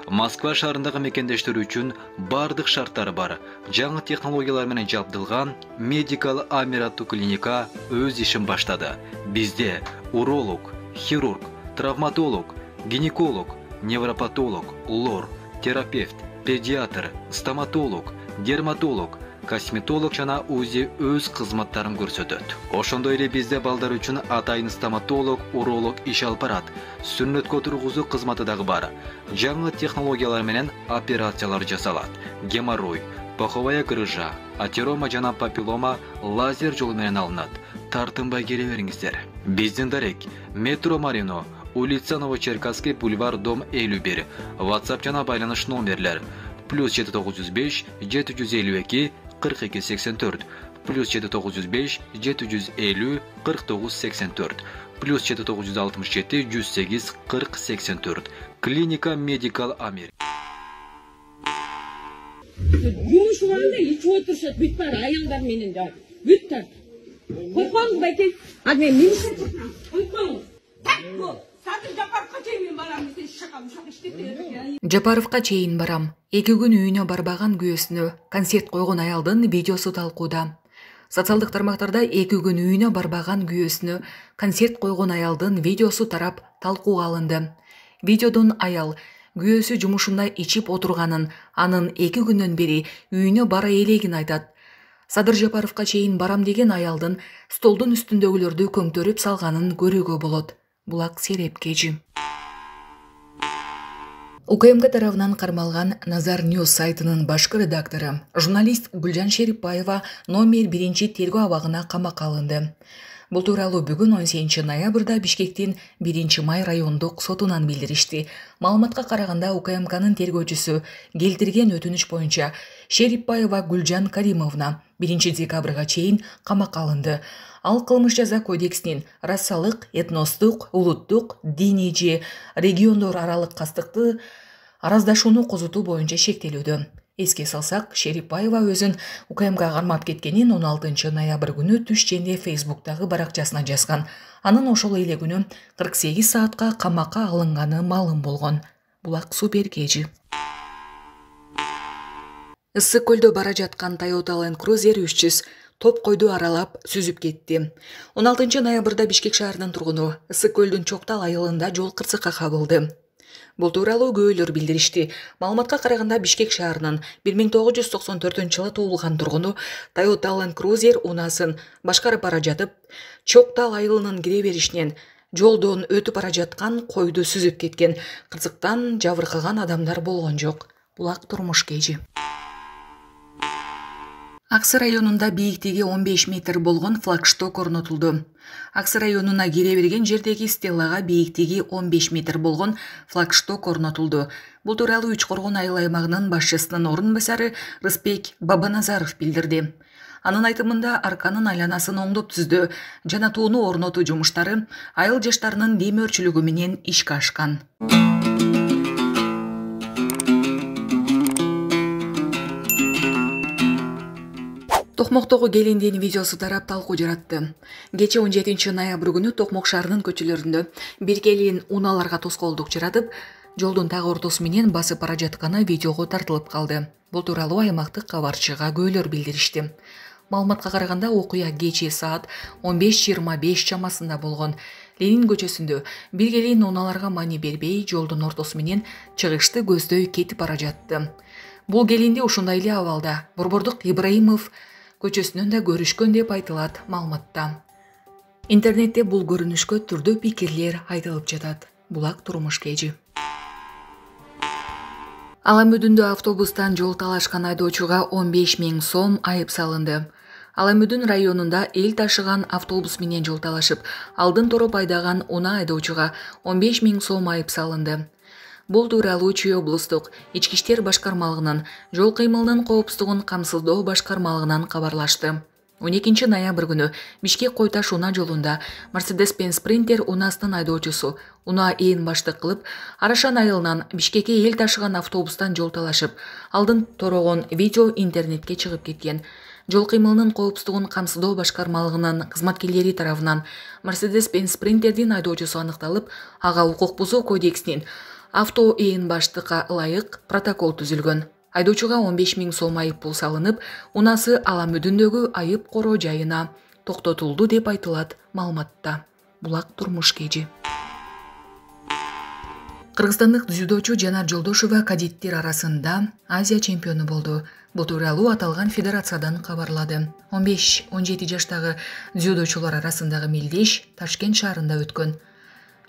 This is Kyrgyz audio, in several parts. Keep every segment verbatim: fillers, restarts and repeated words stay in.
Москва шаарындагы мекендештер үчүн бардык шарттары бар, жаңы технологиялар менен жабдылган Medical Amir аттуу клиника өз ишин баштады. Бизде уролог, хирург, травматолог, гинеколог, невропатолог, лор, терапевт, педиатр, стоматолог, дерматолог, косметолог жана УЗИ өз кызматтарын көрсөтөт. Ошондой эле бизде балдар үчүн атайын стоматолог, уролог иш алып барат. Сүннөткө тургузуу кызматы дагы бар. Жаңы технологиялар менен операциялар жасалат. Геморрой, паховая грыжа, атерома жана папиллома лазер жолу менен алынат. Тартынбай келе бериңиздер. Биздин дарек метро Марино, улица Новочеркасский, бульвар, дом элүү бир. WhatsApp жана байланыш номерлер плюс жети тогуз жүз беш жети жүз элүү эки кырк эки сексен төрт, плюс жети тогуз жүз беш жети жүз элүү кырк тогуз сексен төрт, плюс жети тогуз жүз алтымыш жети жүз сегиз кырк сексен төрт. Клиника Medical Amir. Жумушубанда ич отурушат, бүт бар аялдар менен да. Бүт та. Койпоңуз байке. А мен мен койпоңуз. Так бул. Садыр Жапаровка чейин барам, сен шакам шак иштеп. Жапаровка чейин барам. Эки күн үйүнө барбаган күйөөсүнө концерт койгон аялдын видеосу талкууда. Социалдык тармактарда эки күн үйүнө барбаган күйөөсүнө концерт койгон аялдын видеосу тарап талкууга алынды. Видеодон аял күйөөсү жумушунда ичип отурганын, анын эки күндөн бери үйүнө бара элегин айтат. Садыр Жапаровка чейин барам деген аялдын столдун үстүндөгүлөрдү көңтөрүп салганын көрүүгө болот. Булак Серепкежи. УКМК тарабынан кармалган Назар Ньюс сайтынын башкы редактору, журналист Гүлжан Шерипбаева номер биринчи тергөө абагына камакка алынды. Бул тууралуу бүгүн он сегизинчи ноябрда Бишкектин биринчи май райондук сотунан билдиришти. Маалыматка караганда УКМКнын тергөөчүсү келтирген өтүнүч боюнча Шерипбаева Гүлжан Каримовна биринчи декабрга чейин камакка алынды. Ал кылмыш жаза кодексинин расалык, этностук, улуттук, диний же региондор аралык кастыкты араздашууну козутуу боюнча шектелүүдө. Эске салсак, Шерипбаева өзүн УКМКга кармап кеткенин он алтынчы ноябрь күнү түш женде Фейсбуктагы баракчасына жазган. Анын ошол эле күнү кырк сегиз саатка камакка алынганы маалым болгон. Булак Суперкежи. Ысык көлдө бара жаткан Toyota Land Cruiser үч жүз топ койду аралап сүзүп кетти. он алтынчы ноябрда Бишкек шаарынын тургуну Ысык көлдүн Чоктал айылында жол кырсыкка кабылды. Бул тууралуу күбөлөр билдиришти. Маалыматка караганда Бишкек шаарынын бир миң тогуз жүз токсон төртүнчү жылы туулган тургуну Toyota Land Cruiser унаасын башкарып бара жатып, Чоктал айылынын кире беришинен жолдон өтүп бара жаткан койду сүзүп кеткен. Кырсыктан жабыркаган адамдар болгон жок. Булак Турмуш Кежи. Аксы районунда бийиктиги он беш метр болгон флагшток орнотулду. Аксы районуна кире берген жердеги стеллага бийиктиги он беш метр болгон флагшток орнотулду. Бул тууралуу Үч Коргон айыл аймагынын башчысынын орун басары Рыспек Бабаназаров билдирди. Анын айтымында арканын айланасын оңдоп түздү жана тууну орнотуу жумуштары айыл жаштарынын демөөрчүлүгү менен ишке ашкан. Токмоктогу келиндин видеосу тарап талкуу жаратты. Кече он жетинчи ноябрь күнү Токмок шаарынын көчөлөрүндө бир келин унааларга тоскоолдук жаратып, жолдун так ортосу менен басып бара жатканы видеого тартылып калды. Бул тууралуу аймактык кабарчыга күбөлөр билдиришти. Маалыматка караганда окуя кечээ саат он беш жыйырма беш чамасында болгон. Ленин көчөсүндө бир келин унааларга маани бербей жолдун ортосу менен чыгышты көздөй кетип бара жатты. Бул келинди ушундай эле абалда Борбордук Ибраимов көчөсүнөн да көрүшкөн деп айтылат маалыматта. Интернетте бул көрүнүшкө түрдүү пикирлер айтылып жатат. Булак Турмуш Кежи. Ала Мүдүндө автобустан жол талашкан айдоочуга он беш миң сом айып салынды. Ала Мүдүн районунда эл ташыган автобус менен жол талашып, алдын тороп айдаган унаа айдоочуга он беш миң сом айып салынды. Бул тууралуу Чүй облустук ички иштер башкармалыгынын жол кыймылынын коопсуздугун камсыздоо башкармалыгынан кабарлашты. он экинчи ноябрь күнү Бишкек Койташ унаа жолунда Mercedes-Benz Sprinter унаасынын айдоочусу унаа ээн баштык кылып, Арашан айылынан Бишкекке эл ташыган автобустан жол талашып, алдын торогон видео интернетке чыгып кеткен. Жол кыймылынын коопсуздугун камсыздоо башкармалыгынын кызматкерлери тарабынан Mercedes-Benz Sprinterдин айдоочусу аныкталып, ага укук бузуу кодексинин Авто ээн баштыкка ылайык протокол түзүлгөн. Айдоочуга он беш миң сом айып пул салынып, унасы Ала Мүдүндөгү айып короо жайына токтотулду деп айтылат маалыматта. Булак турмуш кежи. Кыргызстандык дзюдочу Жанар Жолдошова кадеттер арасында Азия чемпиону болду. Бул тууралуу аталган федерациядан кабарлады. он беш он жети жаштагы дзюдочулар арасындагы мелдеш Ташкент шаарында өткөн.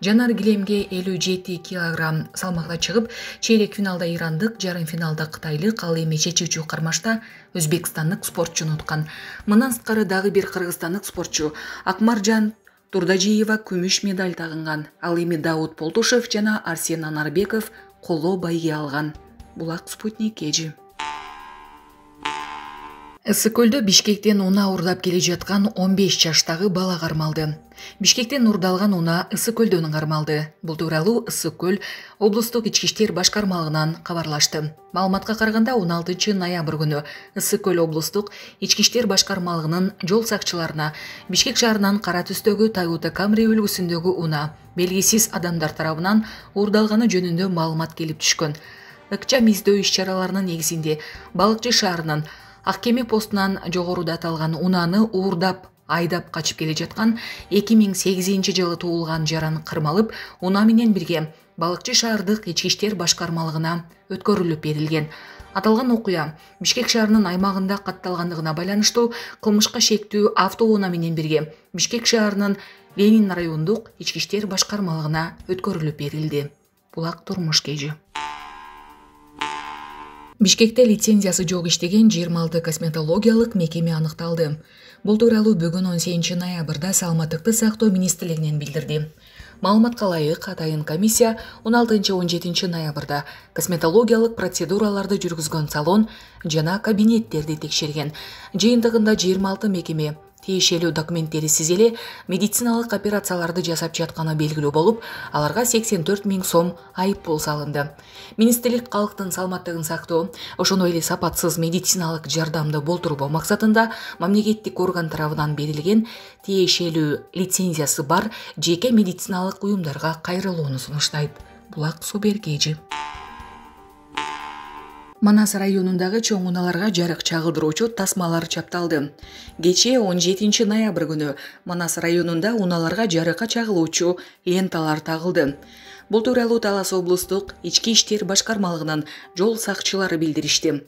Жанар килемге элүү жети килограмм салмакта чыгып, чейрек финалда ирандык, жарым финалда кытайлык, ал эми чечүүчү кармашта өзбекстандык спортчуну уткан. Мындан сырткары дагы бир кыргызстандык спортчу Акмаржан Турдажиева күмүш медаль тагынган. Ал эми Даут Полтушев жана Арсен Анарбеков коло байге алган. Булак Спутник кежи. Ысык көлдө Бишкектен унаа урдап келе жаткан он беш жаштагы бала кармалды. Бишкектен урдалган унаа Ысык көлдөн кармалды. Бул тууралуу Ысык көл облустук ички иштер башкармалыгынан кабарлашты. Маалыматка караганда он алтынчы ноябрь күнү Ысык көл облустук ички иштер башкармалыгынын жол сакчыларына Бишкек шаарынан кара түстөгү Toyota Camry үлгүсүндөгү унаа белгисиз адамдар тарабынан урдалганы жөнүндө маалымат келип түшкөн. Ыкчам издөө иш-чараларынын негизинде Балыкчы шаарынын Ак кеме постунан жогоруда аталган унааны уурдап айдап качып келе жаткан эки миң сегизинчи жылы туулган жаран кырмалып, унаа менен бирге Балыкчы шаардык ички иштер башкармалыгына өткөрүлүп берилген. Аталган окуя Бишкек шаарынын аймагында катталгандыгына байланыштуу кылмышка шектүү автоунаа менен бирге Бишкек шаарынын Ленин райондук ички иштер башкармалыгына өткөрүлүп берилди. Булак турмуш кежи. Бишкекте лицензиясы жок иштеген жыйырма алты косметологиялык мекеме аныкталды. Бул тууралуу бүгүн он сегизинчи ноябрда Саламаттыкты сактоо министрлигинен билдирди. Маалыматка ылайык, атайын комиссия он алтынчы он жетинчи ноябрда косметологиялык процедураларды жүргүзгөн салон жана кабинеттерди текшерген. Жыйынтыгында жыйырма алты мекеме тиешелүү документтерисиз эле медициналык операцияларды жасап жатканы белгилүү болуп, аларга сексен төрт миң сом айып пул салынды. Министрлик калктын саламаттыгын сактоо, ошондой эле сапатсыз медициналык жардамды болтурбоо максатында мамлекеттик орган тарабынан берилген тиешелүү лицензиясы бар жеке медициналык уюмдарга кайрылууну сунуштайт. Булак Субер кежи. Манас районундагы чоң унааларга жарык чагылдыруучу тасмалар чапталды. Кечээ он жетинчи ноябрь күнү Манас районунда унааларга жарыкка чагылуучу ленталар тагылды. Бул тууралуу Талас облустук ички иштер башкармалыгынын жол сакчылары билдиришти.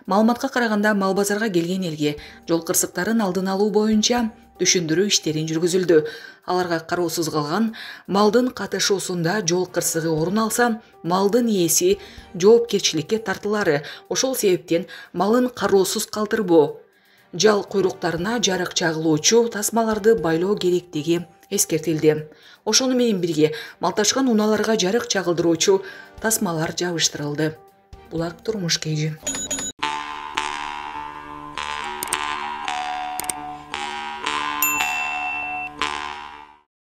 Маалыматка караганда Мал базарга келген элге жол кырсыктарын алдын алуу боюнча түшүндүрүү иштерин жүргүзүлдү. Аларга кароосуз калган малдын катышуусунда жол кырсыгы орун алса, малдын ээси жоопкерчиликке тартылары. Ошол себептен малын кароосуз калтырбоо, жал куйруктарына жарык чагылуучу тасмаларды байлоо керектиги эскертилди. Ошону менен бирге малташкан унааларга жарык чагылдыруучу тасмалар жабыштырылды. Булак турмуш кежи.